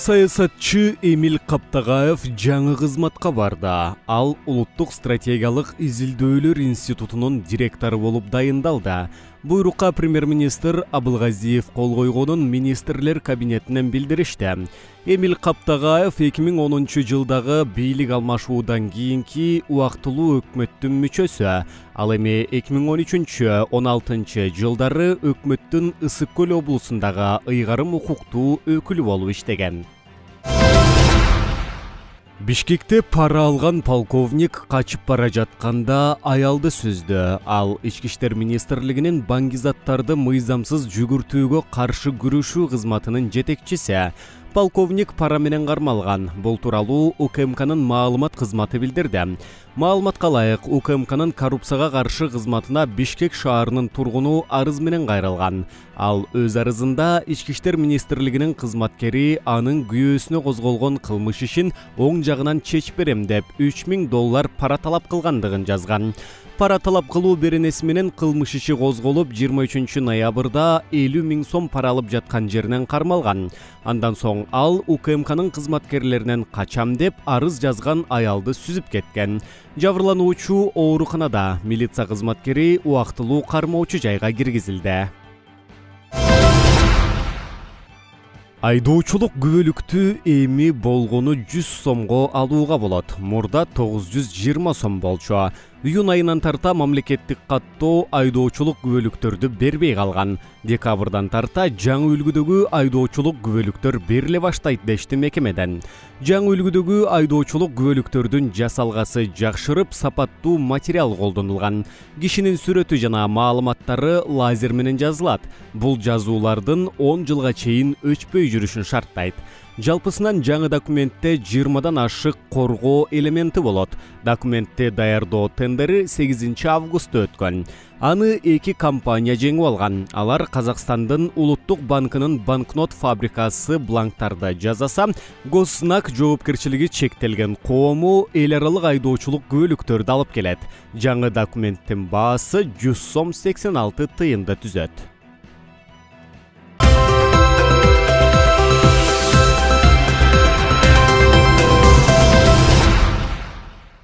Саясатчы Эмиль Каптагаев жаңы кызматка барды. Ал Улуттук стратегиялык изилдөөлөр институтунун директору болуп дайындалды. Буйрукка премьер-министр Абылгазиев кол койгонун министрлер кабинетинен билдиришти. Эмиль Каптагаев 2010-жылдагы бийлик алмашуудан кийинки убактылуу өкмөттүн мүчөсү. Ал эми 2013-16 жылдары өкмөттүн Ысык көл облусундагы ыйгарым укуктуу өкүлү болуп иштеген. Бишкекте пара алган полковник качып бара жатканда аялды сүздү. Ал Ички иштер министрлигинин баңгизаттарды мыйзамсыз жүгүртүүгө каршы күрөшүү кызматынын жетекчиси. Полковник пара менен кармалган. Бул тууралуу УКМКнын маалымат кызматы билдирди. Маалыматка ылайык, УКМКнын коррупцияга каршы кызматына Бишкек шаарынын тургуну арыз менен кайрылган. Ал өз арызында Ички иштер министрлигинин кызматкери анын күйөөсүнө козголгон кылмыш ишин оң жагынан чечип берем деп $3000 пара талап кылгандыгын жазган. Пара талап кылуу беренеси менен кылмыш иши козголуп, 23-ноябрда 50 000 сом пара алып жаткан жеринен кармалган. Андан соң ал УКМКнын кызматкерлеринен качам деп арыз жазган аялды сүзүп кеткен. Жабырлануучу ооруканада, милиция кызматкери убактылуу кармоочу жайга киргизилди. Айдоочулук күбөлүктү эми болгону 100 сомго алууга болот. Мурда 920 сом болчу. Июнь айынан тарта мамлекеттик каттоо айдоочулук күбөлүктөрдү бербей калган. Декабрдан тарта жаңы үлгүдөгү айдоочулук күбөлүктөр бериле баштайт дешти мекемеден. Жаңы үлгүдөгү айдоочулук күбөлүктөрдүн жасалгасы жакшырып, сапаттуу материал колдонулган. Кишинин сүрөтү жана маалыматтары лазер менен жазылат. Бул жазуулардын 10 жылга чейин өчпөй жүрүшүн шарттайт. Жалпысынан жаңы документте 20дан ашык коргоо элементи болот. Документти даярдоо тендери 8 августта өткөн. Аны 2 компания жеңип алган. Алар Казакстандын Улуттук банкынын банкнот фабрикасы бланктарды жасаса, Госзнак жоопкерчилиги чектелген коому эл аралык айдоочулук күбөлүктөрдү алып келет. Жаңы документтин баасы 100 сом 86 тыйынды түзөт.